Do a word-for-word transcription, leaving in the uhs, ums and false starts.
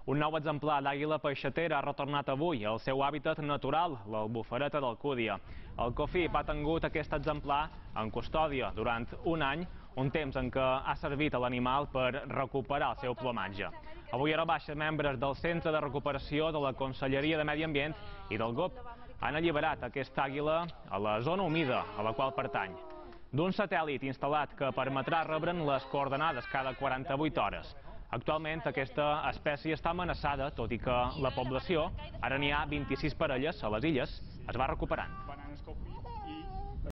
Un nou exemplar d'àguila peixatera ha retornat avui al seu hàbitat natural, l'albufereta d'Alcúdia. El COFIP ha tingut aquest exemplar en custòdia durant un any, un temps en què ha servit a l'animal per recuperar el seu plomatge. Avui a Rebaixa, membres del Centre de Recuperació de la Conselleria de Medi Ambient i del G O P han alliberat aquesta àguila a la zona humida a la qual pertany. D'un satèl·lit instal·lat que permetrà rebre'n les coordenades cada quaranta-vuit hores. Actualment aquesta espècie està amenaçada, tot i que la població, ara n'hi ha vint-i-sis parelles a les illes, es va recuperant.